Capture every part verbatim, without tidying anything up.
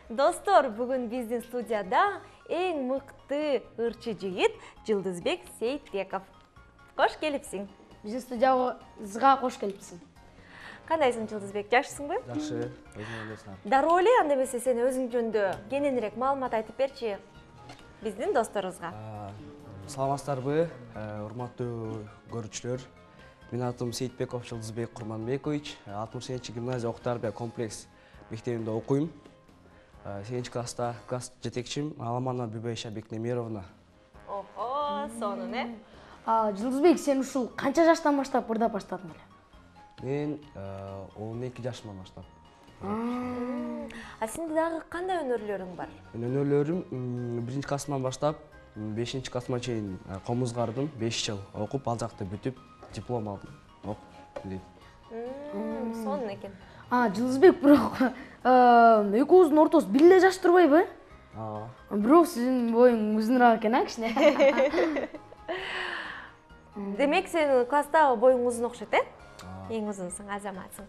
Достор, бүгүн биздин студияда эң мыкты ырчы жигит Жылдызбек Сейитбеков. Кош келипсиң. Биздин студиябызга кош келипсиң. Кандайсың, Жылдызбек? Жакшысыңбы? Жакшы. Өзүң кандайсың? Дароо эле, анда эмесе сен өзүң жөнүндө кененирээк маалымат айтып берчи биздин досторубузга. Саламатсыздарбы, урматтуу көрүүчүлөр. Менин атым Сейитбеков Жылдызбек Курманбекович. алтымыш сегизинчи гимназия окуу-тарбия комплекс мектебинде окуйм. сегизинчи класста класс жетекчим Аламанова Бибайша Бекнемировна. Охо, сонун э? Жылдызбек, сен ушул канча жаштан баштап ырдап баштадың эле? Мен он эки жашымдан баштап. А сенде дагы кандай өнөрлөрүң бар? Өнөрлөрүм биринчи классымдан баштап бешинчи классыма чейин комузгардым, беш жыл окуп, ал жакты бүтүп, диплом алдым. Окуп эле. Сонун экен. Жылдызбек, бирок экөөбүздүн ортосу бир эле жаш турбайбы? Ооба. Бирок сиздин боюң узунураак экен, а кичине? Демек, сен класстагы боюң узун окшойт, э? Эң узунсуң, азаматсың.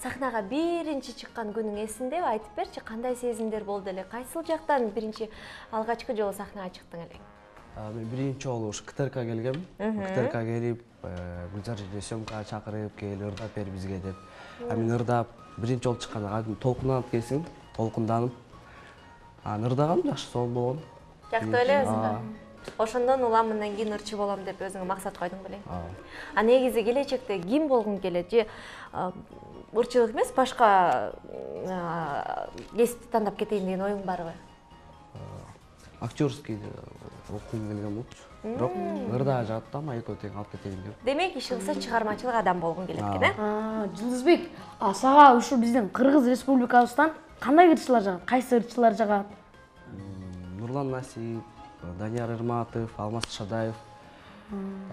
Сахнага биринчи чыккан күнүң эсиндеби? Айтып берчи, кандай сезимдер болду эле? Кайсыл жактан биринчи алгачкы жолу сахнага чыктың эле? Мен биринчи жолу ушу КТРК келгем. КТРК келип, Гүлзар эже съемкага чакырып, кел ырдап бер бизге деп. А мен ырдап, биринчи жолу чыкканда толкунданып келсең, толкунданып. Анан ырдагам, жакшы сонун болгон. Жактуу эле. Ошондон улам мындан кийин ырчы болом деп өзүңө максат койдуң белең. Ооба. А негизи келечекте ким болгуң келет? Же ырчылык эмес, башка кесипти тандап кетейин деген оюң барбы? Актёрский окугум келген болчу. Бирок ырдаа жаттам, экөө тең алып кетейин деп. Демек, иши кылса чыгармачылык адам болгуң келет экен, э? Жылдызбек, сага ушу биздин Кыргыз Республикабыздан кандай ырчылар жагат? Кайсы ырчылар жагат? Нурлан Насип, Данияр Ирматов, Алмаз Шадаев,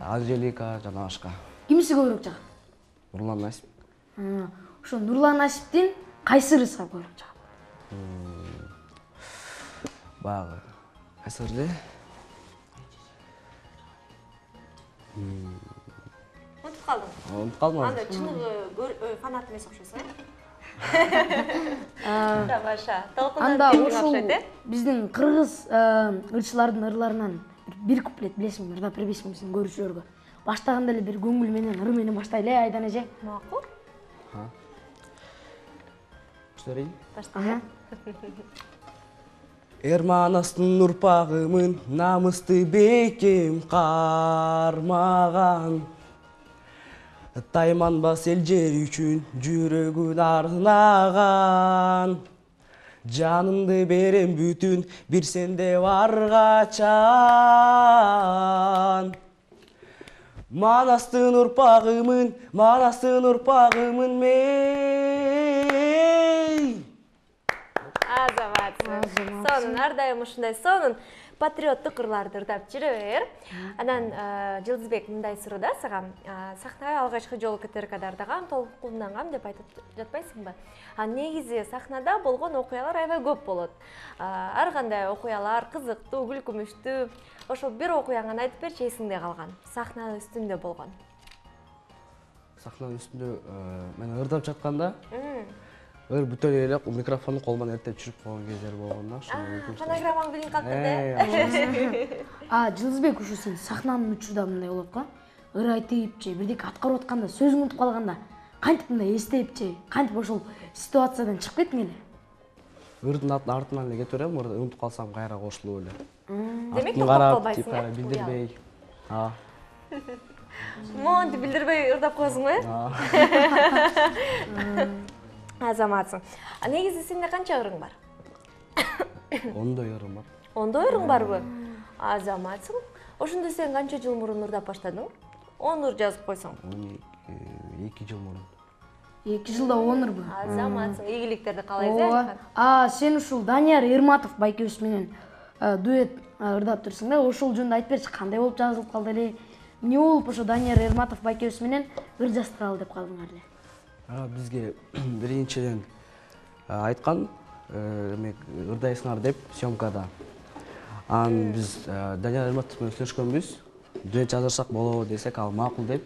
Анжелика жана башка. Кимиси көбүрөөк жагат? Нурлан Насип. Ошо Нурлан Насиптин кайсы ырыса көбүрөөк жагат? Багы. Кайсы ырды? Унутуп калдың? Унутуп калдым. Анда чыныгы фанат эмес окшойсуң, э? Тамаша. Анда ошол биздин кыргыз ырчылардын ырларынан бир куплет билесиңби, ырдап бербейсиңби биздин көрүүчүлөргө? Баштаганда эле бир көңүл менен, ыр менен баштайлы, э, Айдан эже? Макул. Баштайын. Башта. Эрманастын урпагымын намысты бекем кармаган. Тайманбас эл жер үчүн жүрөгүн арнаган. Жанымды берем бүтүн бир сенде баргачан. Манастын урпагымын, манастын урпагымын мен. Азаматсың. Сонун, ар дайым ушундай сонун патриоттук ырларды ырдап жүрө бер. Анан Жылдызбек, мындай суроо да сага. Сахнага алгачкы жолу КТРКда ырдагам, толкундангам деп айтып жатпайсыңбы? А негизи сахнада болгон окуялар аябай көп болот. Ар кандай окуялар кызыктуу, күлкүмүштүү. Ошол бир окуяңды айтып берчи, эсиңде калган. Сахна үстүндө болгон. Сахнанын үстүндө мен ырдап жатканда ыр бүтө эле микрофонду колуман эртеп жүрүп койгон кездер болгон да. Фонограммаң билинип калды да. Жылдызбек, ушу сен сахнанын учурда мындай болот го. Ыр айтып же, бирдеке аткарып атканда, сөзүң унутуп калганда, кантип мындай эстеп же, кантип ошол ситуациядан чыгып кеттиң эле? Ирдин артынан эле кетип берем, унутуп калсам кайра кошулуп эле. Демек, токтоп калбайсың, э? Билдирбей. Ооба. Монтип билдирбей ырдап коесуң, э? Азаматсың. А негизи сенде канча ырың бар? Ондой ырым бар. Ондой ырың барбы? Азаматсың. Ошондо сен канча жыл мурун ырдап баштадың? он ыр жазып койсоң. эки жыл мурун. эки жылда он ырбы? Азаматсың. Ийгиликтерди каалайсың. А, сен ушул Данияр Ирматов байкебиз менен дуэт ырдап турсуң да, ошол жөнүндө айтып берчи, кандай болуп жазылып калды эле? Эмне болуп ошо Данияр Ирматов байкебиз менен ыр жаздыралы деп калдыңар эле? Бизге биринчиден айткан, эмек ырдайсыңар деп съемкада. Анан биз Данияр Ирматов менен сүйлөшкөнбүз. Дуэт жаздырсак болобу десек, ал макул деп,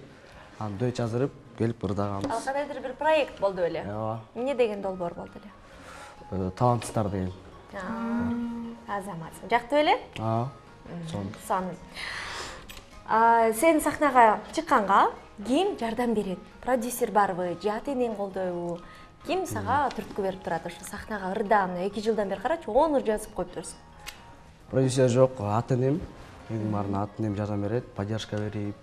анан дуэт жаздырып келип ырдаганбыз. Ал кандайдыр бир проект болду эле. Ооба. Эмне деген долбоор болду эле? талантсыздар деген. Азаматсың. Жакты беле? А, сон. Сонун. Сен сахнага чыкканга ким жардам берет? Продюсер барбы, же ата-энең колдойбу? Ким сага түрткү берип турат ошо сахнага ырдаан эки жылдан бери карачы он ыр жазып коюптурсуң. Продюсер жок, ата-энем. Эң баарына ата-энем жардам берет, поддержка берип.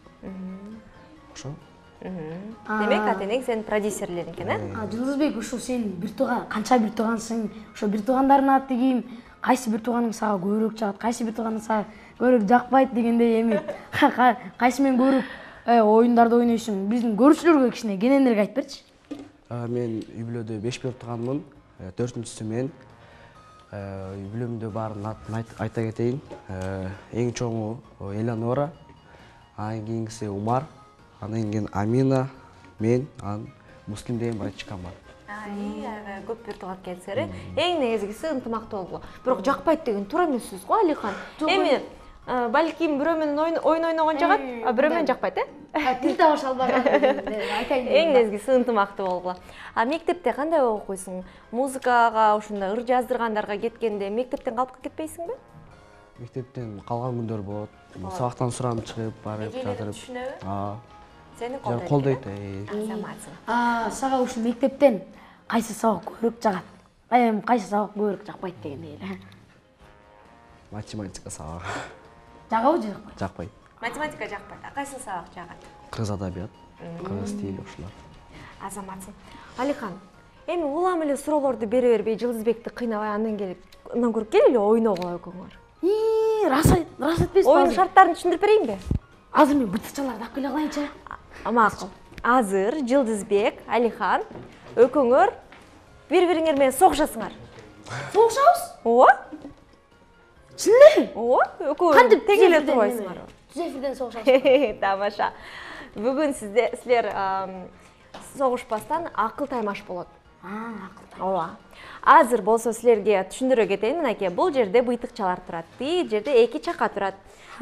Ошо. Демек ата-энең сенин продюсерлериң экен, э? Жылдызбек, ошо сен бир тууган, канча бир туугансың? Ошо бир туугандарынын аты ким? Кайсы бир тууганың сага көбүрөөк жагат, кайсы бир тууганың сага көбүрөөк жакпайт дегендей эми кайсы менен көбүрөөк оюндарды ойнойсуң? Биздин көрүүчүлөргө кичине кененирээк айтып берчи. Мен үй бүлөдө беш бир тууганмын. Төртүнчүсү мен. Үй бүлөмдө баарын атын айта кетейин. Эң чоңу Эланора, анан кийинкиси Умар, анан кийин Амина, мен, анан Муслим деген братчикам бар. Көп бир тууган экенсиңер. Эң негизгиси ынтымактуу болгула. Бирок жакпайт деген туура эмес сөз го, Алихан. Эми балким бирөө менен ойун ойногон жагат, а бирөө менен жакпайт, э? Тил табыш албаган айтайын. Эң негизгиси ынтымактуу болгула. А мектепте кандай окуйсуң? Музыкага, ошондой ыр жаздыргандарга кеткенде мектептен калып кетпейсиңби? Мектептен калган күндөр болот. Сабактан сурамын чыгып, барып жатырып. Түшүнөбү? Сени колдойт. Колдойт. Азаматсың. А, сага ушу мектептен кайсы сабак көбүрөөк жагат? Эми кайсы сабак көбүрөөк жакпайт дегендей эле. Математика сабагы. Жагабы же жакпайт? Жакпайт. Математика жакпайт. А кайсы сабак жагат? Кыргыз адабият, кыргыз тили ушулар. Азаматсың. Алихан, эми улам эле суроолорду бере бербей Жылдызбекти кыйнабай андан келип, андан көрүп кел эле ойногула экөөңөр. Ии, рас айт, рас айтпайсызбы? Оюн шарттарын түшүндүрүп берейинби? Азыр мен бытыкчаларды алып келе калайынчы. Макул. Азыр Жылдызбек, Алихан экөөңөр бири-бириңер менен согушасыңар. Согушабыз? Ооба. Чын эле? Ооба, экөө тең эле турбайсыңар. Түз эфирден согушабыз. Тамаша. Бүгүн сиздер согушпастан акыл таймаш болот. А, акыл. Ооба. Азыр болсо силерге түшүндүрө кетейин. Мынакей, бул жерде быйтыкчалар турат. Тиги жерде эки чака турат.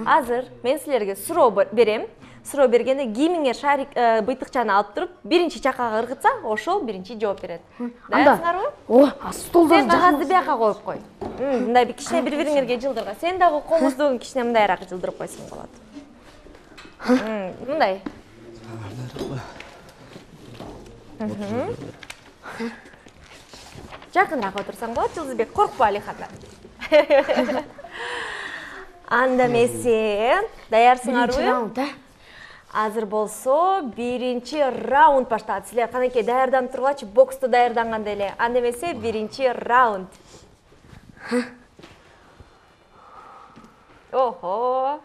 Азыр мен силерге суроо берем. Суроо бергенде кимиңер шарик быйтыкчаны алып туруп, биринчи чакага ыргытса, ошол биринчи жооп берет. Даярсыңарбы? Ооба, столдорду сен кагазды бияка коюп кой. Мындай бир кичине бири-бириңерге жылдырга. Сен дагы комуздугун кичине мындайраак жылдырып койсоң болот. Мындай. Жакыныраак отурсаң болот, Жылдызбек, коркпо Алихандан. Анда эмесе, даярсыңарбы? Раунд, э? Азыр болсо биринчи раунд башталат. Силер канакей даярданып тургулачы, боксту даярдангандай эле. Анда эмесе биринчи раунд. Охо.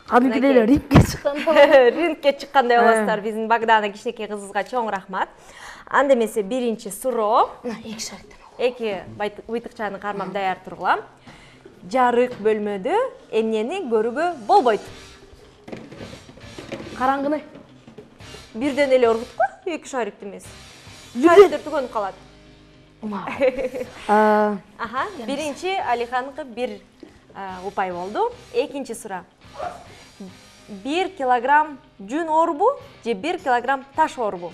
Кадимкидей эле рингке чыккандай. Рингке чыккандай болосуздар. Биздин Багдана кичинекей кызыбызга чоң рахмат. Анда эмесе биринчи суроо. Эки шариктен. Эки быйтыкчаны кармап даяр тургула. Жарык бөлмөдө эмнени көрүүгө болбойт? Караңгыны. Бирден эле ургутку, эки шарикти эмес. Шариктер түгөнүп калат. Аха, биринчи Алиханыкы бир упай болду. Экинчи суроо. бир килограмм жүн орбу же бир килограмм таш орбу?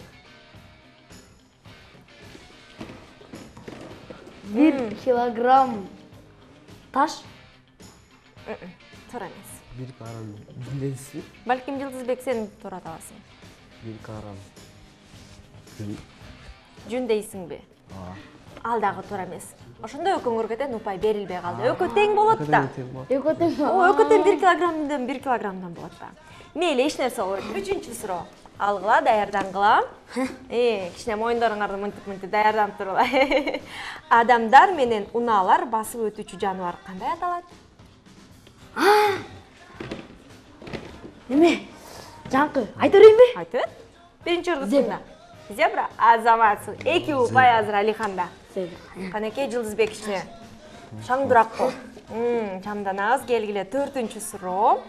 бир килограмм таш? Туура эмес. бир килограмм жүнденси? Балким Жылдызбек сен туура табасың. бир килограмм жүн. Жүн дейсиңби? Ал дагы туура эмес. Ошондо экөөңөргө тең упай берилбей калды. Экөө тең болот да. Экөө тең. О, экөө тең бир килограммдан бир килограммдан болот да. Мейли, эч нерсе болбойт. Үчүнчү суроо. Алгыла, даярдангыла. Э, кичине моюндарыңарды мынтип-мынтип даярданып тургула. Адамдар менен унаалар басып өтүүчү жаныбар кандай аталат? Эме? Жаңкы, айта берейинби? Айта бер. Биринчи ыргытында. Зебра, азаматсың. Эки упай азыр Алиханда. Канекей Жылдызбек кичине шаңдырак кол. Чамданабыз, келгиле. Төртүнчү суроо.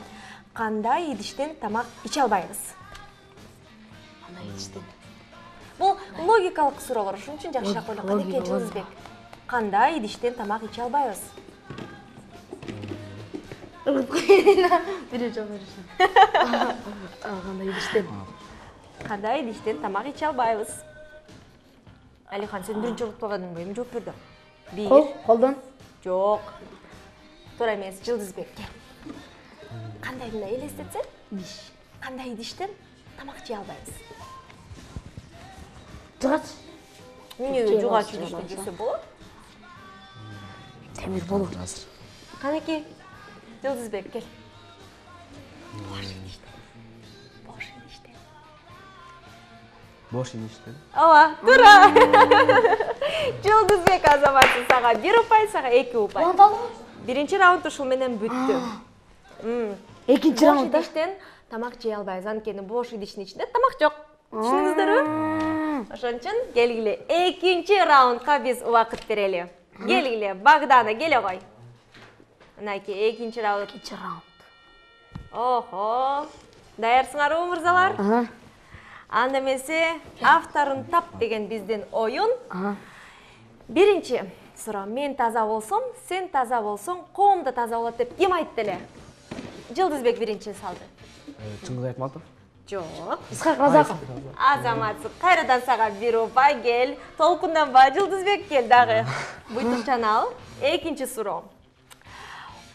Кандай идиштен тамак иче албайбыз? Кандай идиштен? Бул логикалык суроолор, ошон үчүн жакшыраак ойло. Канекей Жылдызбек. Кандай идиштен тамак иче албайбыз? Биринчи беришин. Кандай идиштен? Кандай идиштен тамак иче албайбыз? Алихан, сен биринчи угуп койгонуңбу? Эми жооп берди. бир. Кол, колдон. Жок. Туура эмес, Жылдызбек. Кандай эле элестетсең? Диш. Кандай идиштен тамак жей албайбыз? Жыгач. Эмне жугач идиштен жесе болот? Темир болот. Азыр. Канеки, Жылдызбек кел. Бош идиштен. Бош идиштен. Бош идиштен. Ооба, туура. Жылдызбек Азаматсың, сага бир упай, сага эки упай. Биринчи раунд ушул менен бүттү. Экинчи Бош раундда идиштен тамак жей албайбыз, анткени бош идиштин ичинде тамак жок. Түшүндүңүздөрбү? Ошон үчүн келгиле экинчи раундка биз убакыт берели. Келгиле, Багдана келе кой. Мынакей экинчи раунд. Экинчи раунд. Охо. Даярсыңарбы, мырзалар? Ага. Анда эмесе авторун тап деген биздин оюн. Ага. Биринчи суроо, мен таза болсом, сен таза болсоң, коом да таза болот деп ким айтты эле? Жылдызбек биринчи салды. Чыңгыз Айтматов. Жок. Исхак Разаков. Азаматсың, кайрадан сага бир упай кел. Толкунданба, Жылдызбек кел дагы. Буйтукчан ал. Экинчи суроо.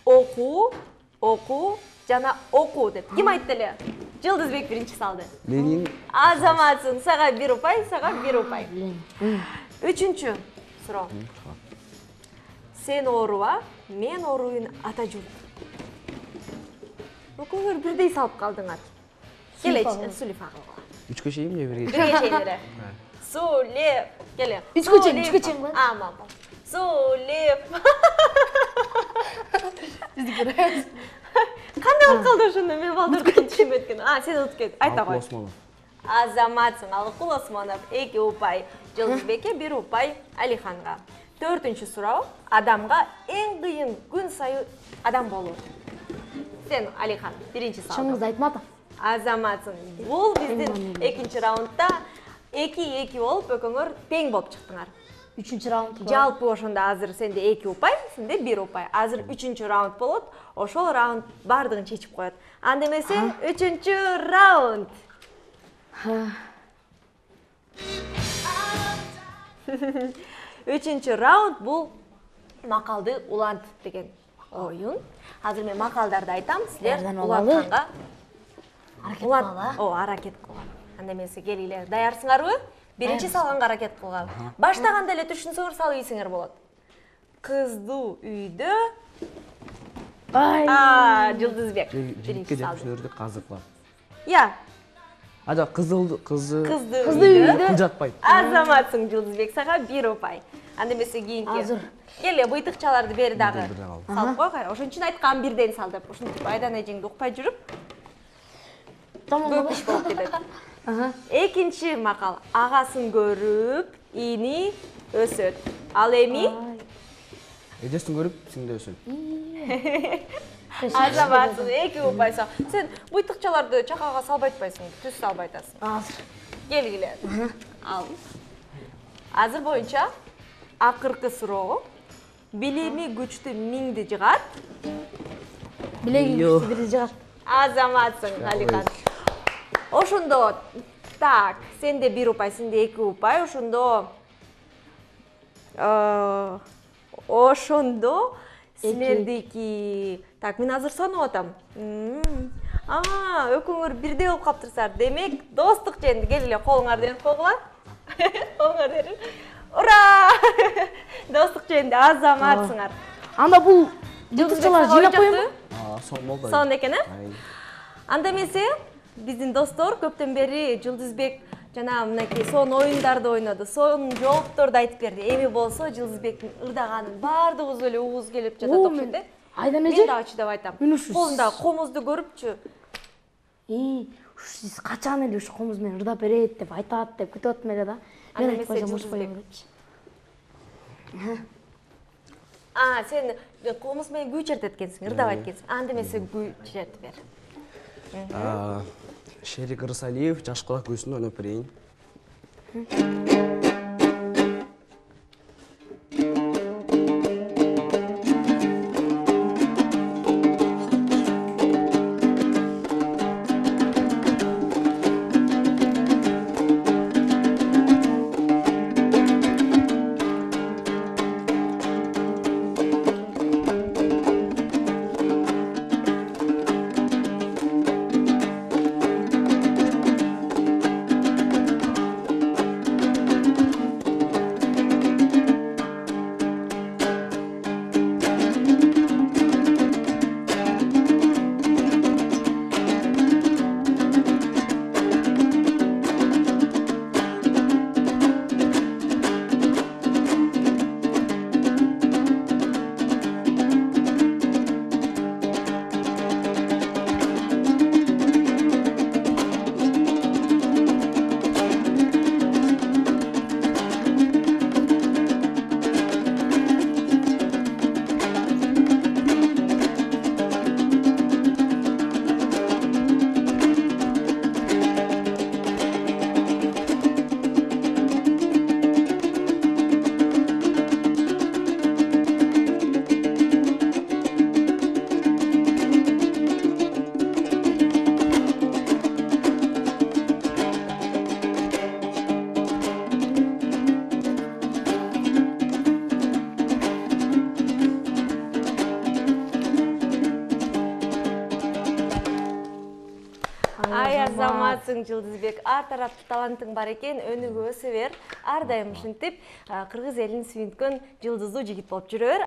Окуу, окуу жана окуу деп ким айтты эле? Жылдызбек биринчи салды. Ленин. Азаматсың, сага бир упай, сага бир упай. Үчүнчү суроо. Сен ооруба, мен ооруйн ата журт. Экөөңөр бирдей салып калдыңар. Келечи, Сулифа кылгыла. Үчкө чейин же бирге? Бирге чейин. Сулиф, келе. Үчкө чейин, үчкө чейин го. Аман. Сулиф. Кандай болуп калды ошондо? Мен балдырдым түшүнбөй кеткен. А, сен утуп кет. Айта кой. Азаматсың, Алыкул Осмонов эки упай, Жылдызбекке бир упай, Алиханга. Төртүнчү суроо. Адамга эң кыйын күн сайын адам болуу. Сен, Алихан, биринчи салдың. Чыңгыз Айтматов. Азаматсың. Бул биздин экинчи раундда эки-эки болуп, экөөңөр тең болуп чыктыңар. Үчүнчү раунд. Жалпы ошондо азыр сенде эки упай, сенде бир упай. Азыр үчүнчү раунд болот. Ошол раунд бардыгын чечип коет. Анда эмесе үчүнчү раунд. Үчүнчү раунд бул макалды улант деген оюн. Азыр мен макалдарды айтам, силер улантканга аракет кылалы. О, аракет кылган. Анда эмесе келгиле, даярсыңарбы? Биринчи салганга аракет кылган. Баштаганда эле түшүнсөңөр салып ийсиңер болот. Кыздуу үйдө. Ай. А, Жылдызбек. Биринчи салды. Казыклап. Я. А жок, кызыл кызы. Кыздуу үйдө. Кыл жатпайт. Азаматсың, Жылдызбек, сага бир упай. Анда эмесе кийинки. Азыр. Келе, буйтукчаларды бери дагы. Салып кой, кайра. Ошон үчүн айткам бирден сал деп. Ушинтип айдан эжеңди укпай жүрүп, көп иш болуп кетет. Экинчи макал. Агасын көрүп, ини өсөт. Ал эми Эжесин көрүп, сиңде өсөт. Азаматсың, эки упай сал. Сен буйтукчаларды чакага салбай атпайсың, түз салбай атасың. Азыр. Келгиле. Ал. Азыр боюнча акыркы суроо. Билими күчтүү миңди жыгат. Билеги күчтүү бирди жыгат. Азаматсың, Алихан. Ошондо, так, сенде бир упай, сенде эки упай, ошондо ошондо силердики, так, мен азыр санап атам. А, экөөңөр бирдей болуп каптырсыздар. Демек, достук жөнүндө келгиле, колуңарды берип койгула. Колуңарды берип. Ура! Достук жөнүндө Азаматсыңар. Анда бул жылдызчалар жыйнап коюмбу? А, сон болду. Сон экен, э? Анда эмесе, биздин достор көптөн бери Жылдызбек жана мынакей сон оюндарды ойноду. Сон жоопторду айтып берди. Эми болсо Жылдызбектин ырдаганын баардыгыбыз эле угуз келип жатат окшойт, э? Айдан Мен эже. дагы чыдап айтам. Мен ушу. Колунда комузду көрүпчү. И, сиз качан эле ушу комуз менен ырдап берет деп айтат деп күтүп атам эле да. Мен айтып койсом ушпай беретчи. А, сен комуз менен күй чертет экенсиң, ырдабайт экенсиң. Анда эмесе күй чертип бер. Шерик Ырсалиев жаш кулак күйсүн ойноп берейин. азаматсың Жылдызбек. Ар тараптуу талантың бар экен, өнүгө өсө бер. Ар дайым ушинтип кыргыз элин сүйүнткөн жылдыздуу жигит болуп жүрө бер.